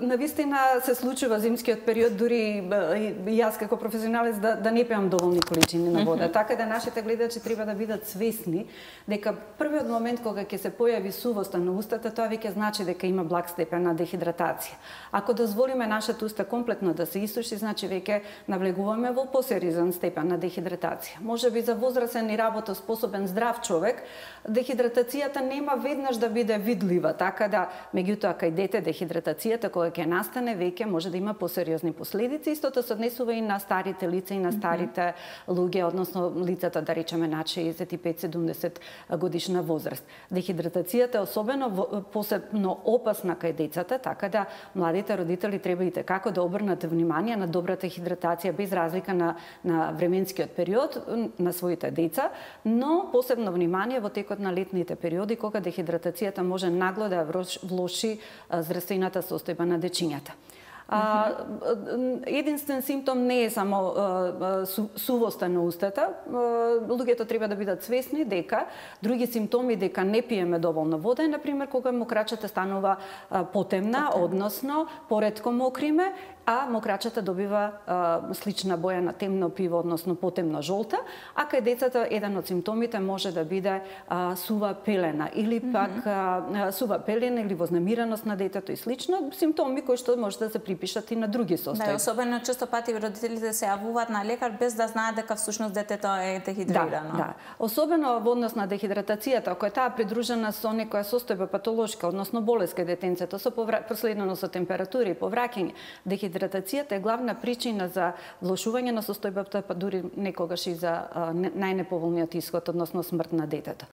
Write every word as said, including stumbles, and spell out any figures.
Навистина се случува зимскиот период, дури и јас како професионалец да, да не пијам доволни количини на вода. Mm -hmm. Така да нашите гледачи треба да бидат свесни дека првиот момент кога ќе се појави сувоста на устата, тоа веќе значи дека има благ степен на дехидратација. Ако дозволиме нашата уста комплетно да се исуши, значи веќе навлегуваме во посериозен степен на дехидратација. Можеби за возрасен и работоспособен здрав човек, дехидратацијата нема веднаш да биде видлива, така да меѓутоа кај дете дехидратацијата кога ќе настане веќе може да има посериозни последици. Истото се однесува и на старите лица и на старите луѓе, односно лицата да речеме над шеесет и пет седумдесет годишна возраст. Дехидратацијата е особено посебно опасна кај децата, така да младите родители треба и како да обрнат внимание на добрата хидратација без разлика на на временскиот период на своите деца, но посебно внимание во текот на летните периоди кога дехидратацијата може нагло да влоши здравствената состојба на дечињата. А, единствен симптом не е само а, су, сувоста на устата. А, луѓето треба да бидат свесни дека други симптоми дека не пиеме доволно вода е, например, кога мокрачата станува а, потемна, Потем. односно поретко мокриме, а мокрачата добива а, слична боја на темно пиво, односно потемно жолта, а кај децата еден од симптомите може да биде а, сува пелена или пак mm -hmm. а, сува пелена или вознемиреност на детето и слично, симптоми кои што може да се припишат и на други состојби. Да, особено често пати родителите се јавуваат на лекар без да знаат дека всушност детето е дехидрирано. Да, да. Особено во однос на дехидратацијата, ако е таа придружена со некоја состојба патолошка, односно болест кај детенцето, со проследено со температура и повраќање, дехидратацијата е главна причина за влошување на состојбата, па дури некогаш и за најнеповолниот исход, односно смрт на детето.